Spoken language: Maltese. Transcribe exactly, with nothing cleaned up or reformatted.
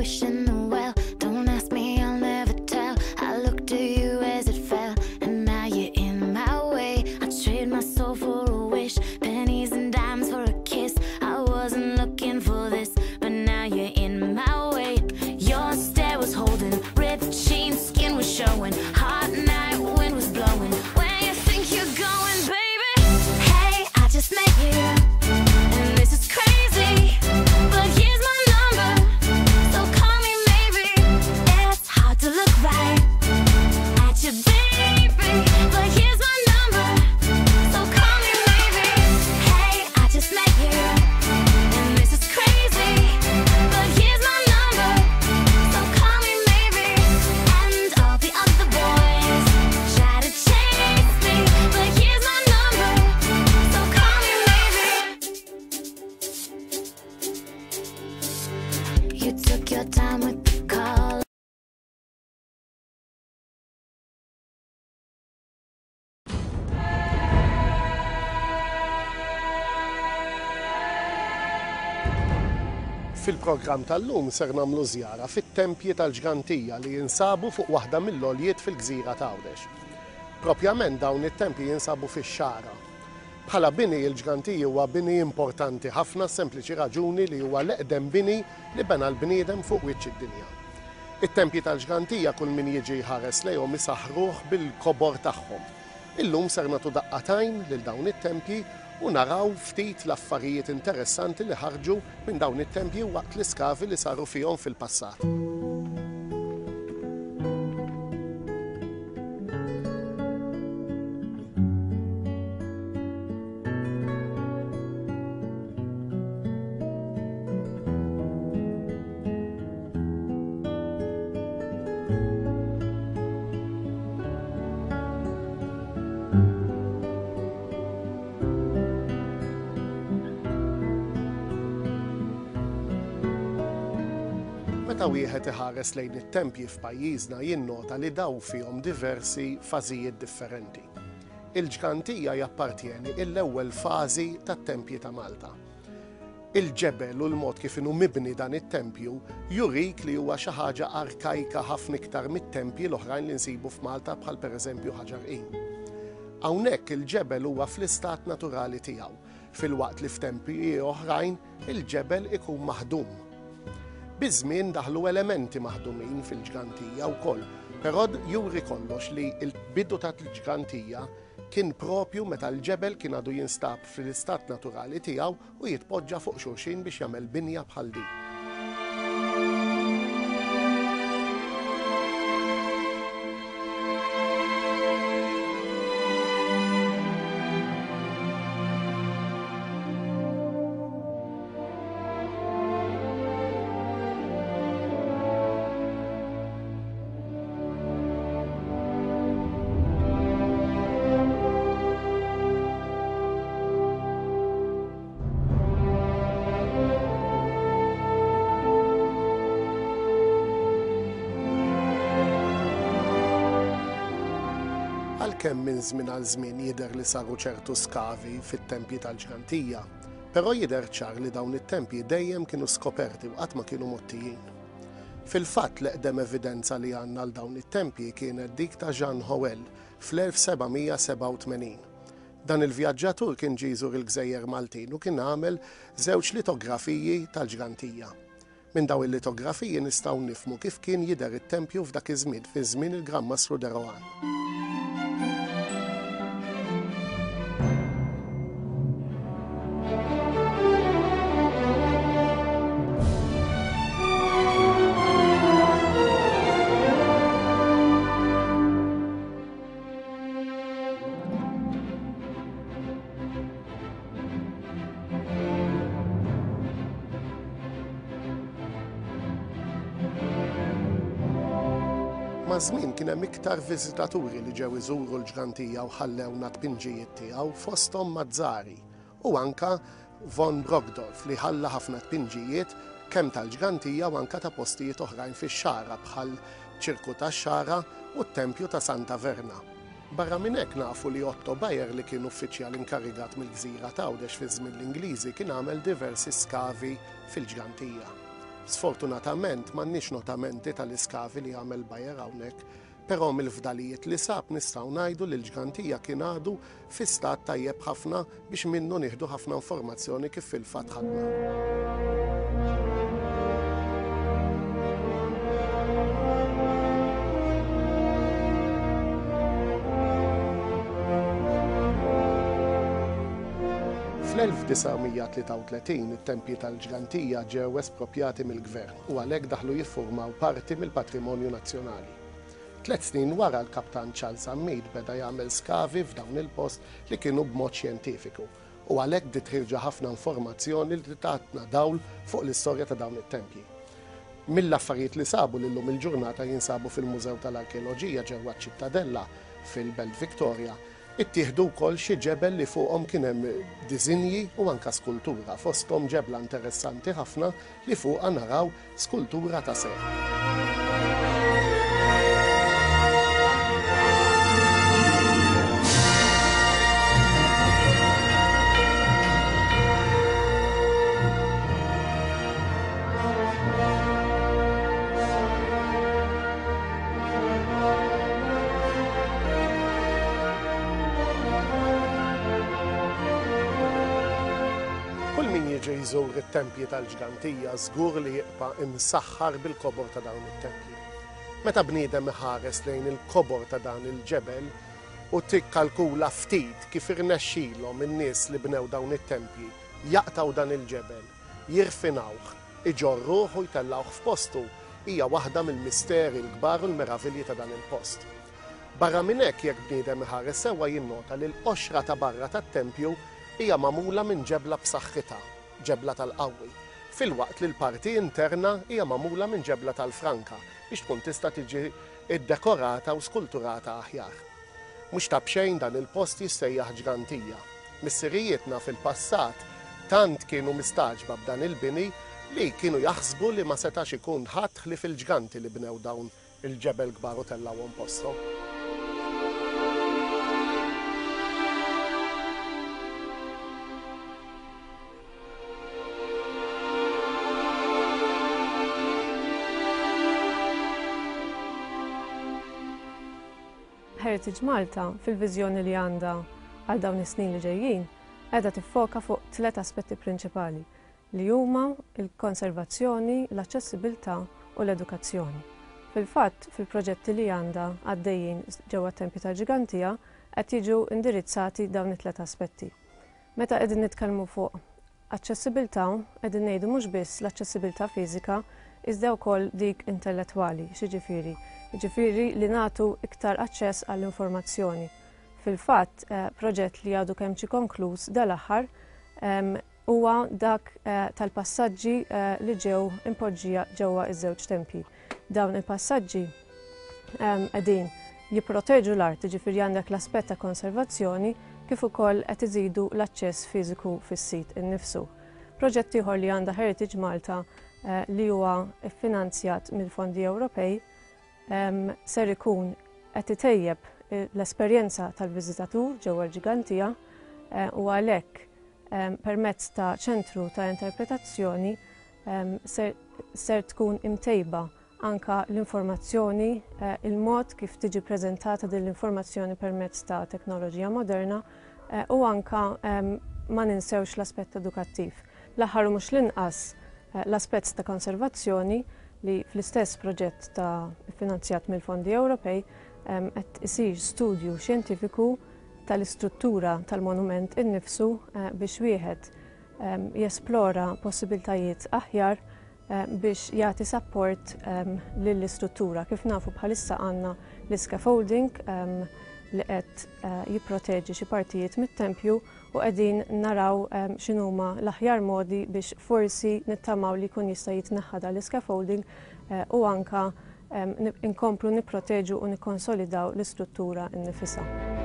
wish in the well. Don't ask me, I'll never tell. I looked to you as it fell, and now you're in my way. I trade my soul for a wish, pennies and dimes for a kiss. I wasn't looking for this, but now you're in my way. Your stare was holding, ripped jeans, skin was showing. Hot night, wind was blowing. Where you think you're going, baby? Hey, I just met you, and this is crazy, but here's my number, so call me maybe. It's hard to look right at you, baby, but here's my number, so call me maybe. Hey, I just met you, and this is crazy, but here's my number, so call me maybe. And all the other boys try to chase me, but here's my number, so call me maybe. You took your time with the call. Fil-programm tal-lum ser nagħmlu żjara fit-tempji tal-Ġgantija li jinsabu fuq waħda mill-għoljiet fil-gżira t'Għawdex. Propjament dawn it-tempji jinsabu fix-Xagħra. Bħala bini il-Ġgantija huwa bini importanti ħafna sempliċi raġuni li huwa l-eqdem bini li bena l-bniedem fuq wiċċ id-dinja. It-tempji tal-Ġgantija kull min jiġi jħares lejhom isaħruh bil-kobor tagħhom. Illum ser nagħtu daqqa t'għajn lil dawn it-tempji u naraw ftit l-affarijiet interessanti li ħarġu minn dawn it-tempji waqt l-iskavi li saru fihom fil-passat. Meta wieħed iħares lejn it-tempji f'pajjiżna jinnota li daw fihom diversi fażijiet differenti. Il-Ġgantija jappartjeni l-ewwel fażi tat-tempji ta' Malta. Il-ġebel u l-mod kif inhu mibni dan it-tempju jurik li huwa xi ħaġa arkajka ħafna iktar mit-tempji l-oħrajn li nsibu f'Malta bħal pereżempju Ħaġar Qim. Hawnhekk il-ġebel huwa fl-istat naturali tiegħu, filwaqt li f'tempji oħrajn il-ġebel ikun maħdum. Biż-żmien daħlu elementi maħdumin fil-Ġgantija wkoll, però juri kollox li l-bidu tal-Ġgantija kien propju meta l-ġebel kien għadu jinstab fl-istat naturali tiegħu u jitpoġġa fuq xulxin biex jagħmel binja bħal din. Għalkemm minn żmien għal żmien jidher li saru ċertu skavi fit-tempji tal-Ġgantija, però jidher ċar li dawn it-tempji dejjem kienu skoperti u qatt ma kienu mgħottijin. Fil-fatt l-eqdem evidenza li għandna għal dawn it-tempji kienet dik ta' Jean Howell fl-elf seba' mija sebgħa u tmenin. Dan il-vjaġġatur kien ġie jżur il-Gżejjer Maltin u kien għamel żewġ litografiji tal-Ġgantija. Minn dawn il-litografiji nistgħu nifhmu kif kien jidher it-tempju f'dak iż-żmien, fi żmien il-Gran Mastru de Rohan. Maż-żmien kien hemm iktar viżitaturi li ġew iżuru l-Ġgantija u ħallewna tpinġijiet tiegħu fosthom Mazzari u anka von Brockdorff li ħalla ħafna tpinġijiet kemm tal-Ġgantija u anka ta' postijiet oħrajn fix-Xagħra bħal ċirku tax-Xagħra u t-Tempju ta' Santa Verna. Barra minn hekk nafu li Otto Bayer li kien uffiċjal inkarigat mill-gżira t'Għawdex fi żmien l-Ingliżi kien għamel diversi skavi fil-Ġgantija. Sfortunatament m'għandniex notamenti tal-iskavi li għamel Bayer hawnhekk, però mill-fdalijiet li sab nistgħu ngħidu li l-Ġgantija kien għadu fi stat tajjeb ħafna biex minnu nieħdu ħafna informazzjoni kif fil-fatt ħadna. Fl-elf disa' mija tlieta u tletin it-tempji tal-Ġgantija ġew espropjati mill-gvern u għalhekk daħlu jiffurmaw parti mill-patrimonju nazzjonali. Tliet snin wara l-kaptan Charles Zammit beda jagħmel skavi f'dawn il-post li kienu b'mod xjentifiku u għalhekk bdiet ħirġa ħafna informazzjoni li tatna dawl fuq l-istorja ta' dawn it-tempji. Mill-affarijiet li sabu li llum il-ġurnata jinsabu fil-Mużew tal-Arkeoloġija ġewwa ċ-Ċittadella fil-Belt Victoria, ittieħdu wkoll xi ġebel li fuqhom kien hemm disinji u anka skultura, fosthom ġebla interessanti ħafna li fuqha naraw skultura ta' serp. Kull min jiġi jżur it-tempji tal-Ġgantija żgur li jibqa' imsaħħar bil-kobor ta' dawn it-tempji. Meta bniedem iħares lejn il-kobor ta' dan il-ġebel u tikkalkula ftit kif irnexxilhom in-nies li bnew dawn it-tempji jaqtaw dan il-ġebel, jirfinawh, iġorruh u jtellawh f'postu, hija waħda mill-misteri l-kbar u l-meravilji ta' dan il-post. Barra minn hekk jekk bniedem iħares sewwa jinnota li l-qoxra ta' barra tat-tempju hija magħmula minn ġebla b'saħħitha, ġebla tal-qawwi, filwaqt li l-parti interna hija magħmula minn ġebla tal-franka biex tkun tista' tiġi iddekorata u skulturata aħjar. Mhux ta' b'xejn dan il-post jissejjaħ Ġgantija. Missirijietna fil-passat tant kienu mistaġba b'dan il-bini li kienu jaħsbu li ma setax ikun ħadd ħlief il-ġganti li bnew dawn il-ġebel kbar u tellgħuhom posthom. Heritage Malta, fil-viżjoni li għandha għal dawn is-snin li ġejjin, qiegħda tiffoka fuq tliet aspetti prinċipali li huma l-konservazzjoni, l-aċċessibilità u l-edukazzjoni. Fil-fatt, fil-proġetti li għandha għaddejjin ġewwa t-tempji tal-Ġgantija qed jiġu indirizzati dawn it-tliet aspetti. Meta qegħdin nitkellmu fuq aċċessibilità, qegħdin ngħidu mhux biss l-aċċessibilità fiżika, iżda wkoll dik intellettwali, x'jiġifieri? Jiġifieri li nagħtu iktar aċċess għall-informazzjoni. Fil-fatt, eh, proġett li għadu kemm ġie konkluż dal-aħħar, em, huwa dak, eh, tal-passaġġi, eh, li ġew impoġġija ġewwa iż-żewġ tempji. Dawn il-passaġġi, em, qegħdin jipproteġu l-art, jiġifieri għandek l-aspett ta' konservazzjoni kif ukoll qed iżidu l-aċċess fiżiku fis-sit innifsu. Proġett ieħor li għandha Heritage Malta, eh, li huwa ffinanzjat mill-fondi Ewropej, em, ser ikun qed itejjeb, eh, l-esperjenza tal-viżitatur ġewwa l-Ġgantija, eh, u għalhekk, em, permezz ta' ċentru ta' interpretazzjoni, em, ser, ser tkun imtejba anka l-informazzjoni, eh, il-mod kif tiġi preżentata din l-informazzjoni permezz ta' teknoloġija moderna, eh, u anka, em, ma ninsewx l-aspett edukattiv. L-aħħar u mhux l-inqas, eh, l-aspett ta' konservazzjoni li fl-istess proġett ta' finanzjat mill-fondi Ewropej, em, qed isir studju xjentifiku tal-istruttura tal-monument innifsu, eh, biex wieħed, em, jesplora possibiltajiet aħjar, eh, biex jagħti support, em, lill-istruttura. Kif nafu bħalissa għandna l-scaffolding, em, li qed, eh, jipproteġi xi partijiet mit-tempju u qegħdin naraw, em, x'inhuma l-aħjar modi biex forsi nittamaw li jkun jista' jitneħħa dan l-scaffolding, eh, u anka, em, nip-, inkomplu nipproteġu u nikkonsolidaw l-istruttura nnifisha.